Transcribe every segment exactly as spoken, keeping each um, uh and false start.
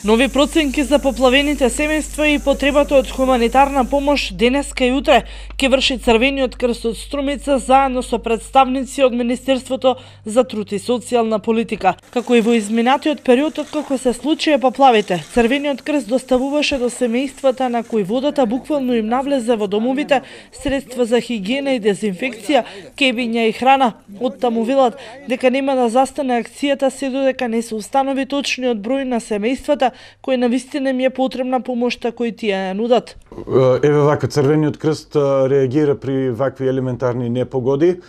Нови проценки за поплавените семејства и потребата од хуманитарна помош денеска и утре ќе врши Црвениот крст од Струмица заедно со представници од Министерството за труд и социјална политика. Како и во изминатиот период откако се случија поплавите, Црвениот крст доставуваше до семејствата на кои водата буквално им навлезе во домовите средства за хигиена и дезинфекција, кебиња и храна. Оттаму велат дека нема да застане акцијата се додека не се установи точниот број на семејствата кој навистина им е потребна помошта кој тие ја нудат. Еве вака, Црвениот крст реагира при вакви елементарни непогоди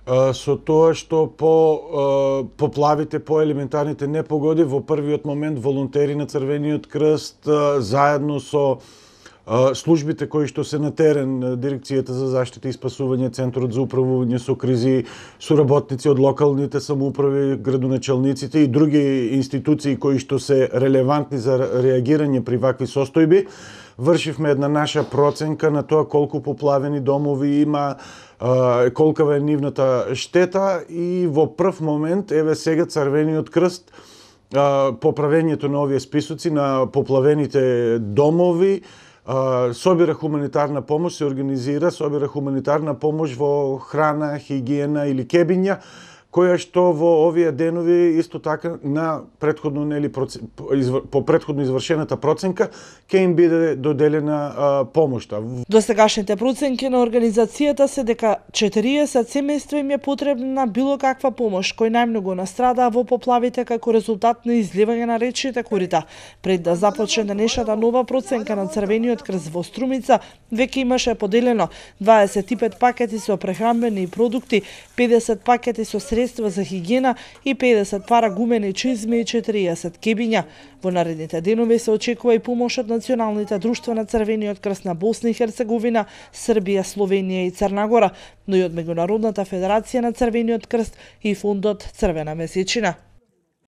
со тоа што по поплавите, по елементарните непогоди во првиот момент волонтери на Црвениот крст заедно со службите кои што се на терен, Дирекцијата за заштита и спасување, Центарот за управување со кризи, соработници од локалните самоуправи, градоначалниците и други институции кои што се релевантни за реагирање при вакви состојби, вршивме една наша проценка на тоа колку поплавени домови има, колкава е нивната штета и во прв момент, еве сега Црвениот крст, поправењето на овие списоци на поплавените домови, собира хуманитарна помош, се организира, собира хуманитарна помош во храна, хигиена или кебиња, која што во овие денови исто така на претходно нели по претходно извршената проценка ќе им биде доделена а, помошта. До сегашните проценки на организацијата се дека четириесет семејства им е потребна било каква помош, кој најмногу настрадаа во поплавите како резултат на изливање на речните корита. Пред да започне денешната нова проценка на Црвениот крст во Струмица, веќе имаше поделено дваесет и пет пакети со прехранбени продукти, педесет пакети со средства за хигиена и педесет пара гумени чизми и четириесет кебиња. Во наредните денови се очекува и помош од националните друштва на Црвениот крст на Босна и Херцеговина, Србија, Словенија и Црна Гора, но и од Меѓународната федерација на Црвениот крст и фондот Црвена месечина.